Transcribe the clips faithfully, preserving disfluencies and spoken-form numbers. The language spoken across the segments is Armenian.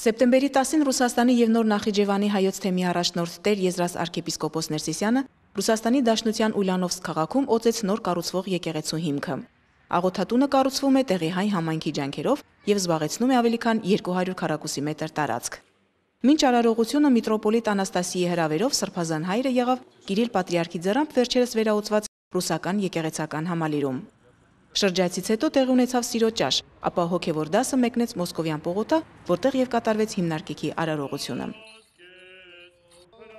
Սեպտեմբերի տասին Ռուսաստանի եւ Նոր Նախիջևանի հայոց թեմի առաջնորդ Տեր Եզրաս arczepiskopos Ներսիսյանը Ռուսաստանի Դաշնության Ուլյանովսկ քաղաքում օծեց նոր կառուցվող եկեղեցու հիմքը։ Աղոթատունը կառուցվում է տեղի հայ համայնքի ջանքերով եւ զբաղեցնում է ավելի քան երկու հարյուր քառակուսի մետր տարածք։ Մինչ արարողությունը միտրոպոլիտ Անաստասիի հրավերով Սրբազան հայրը եղավ Կիրիլ Պատրիարքի ձեռամբ վերջերս վերաուծված ռուսական եկեղեցական համալիրում։ Շրջայցից հետո տեղի ունեցավ սիրո ճաշ, ապա հոգևոր դասը մեկնեց Մոսկովյան պողոտա, որտեղ եւ կատարվեց հիմնարկիքի արարողությունը։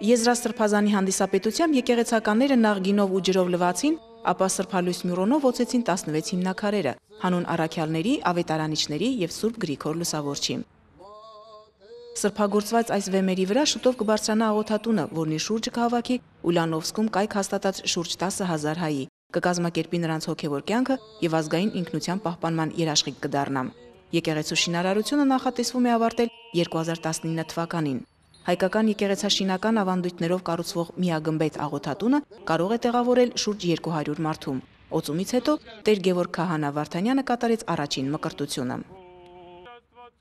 Եզրաս Սրբազանի հանդիսապետությամբ եկեղեցականները նախ գինով ու ջրով լվացին, ապա սրբալույս մյուրոնով օծեցին տասնվեց հիմնաքարերը, հանուն առաքյալների, ավետարանիչների եւ Սուրբ Գրիգոր Լուսավորչի։ Սրբագործված այս վեմերի վրա շուտով կբարձրանա աղոթատունը, որնի շուրջը կհավաքի Ուլյանովսկում կայք հաստատած շուրջ տասը հազար հայի, կկազմակերպի նրանց հոգևոր կյանքը եւ ազգային ինքնության պահպանման երաշխիք կդառնա։ Եկեղեցու շինարարությունը նախատեսվում է ավարտել երկու հազար տասնինը թվականին։ Հայկական եկեղեցաշինական ավանդույթներով կառուցվող միագմբեթ աղոթատունը կարող է տեղավորել շուրջ երկու հարյուր մարդու։ Օծումից հետո Տեր Գևորգ Քահանա Վարդանյանը կատարեց առաջին մկրտությունը։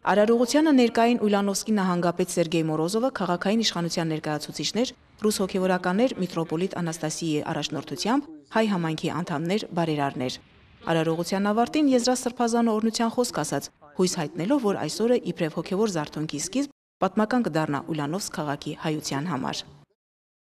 Արարողությանը ներկային Ուլյանովսկի նահանգապետ Սերգեյ Մորոզովը, քաղաքային իշխանության ներկայացուցիչներ, ռուս հոգևորականներ Միտրոպոլիտ Անաստասիի առաջնորդությամբ, հայ համայնքի անդամներ, բարերարներ։ Արարողության ավարտին Եզրաս Սրբազանը օրհնության խոսք ասաց, հույս հայտնելով, որ այսօրը իբրև հոգևոր զարթոնքի սկիզբ պատմական կդառնա Ուլյանովսկ քաղաքի հայության համար։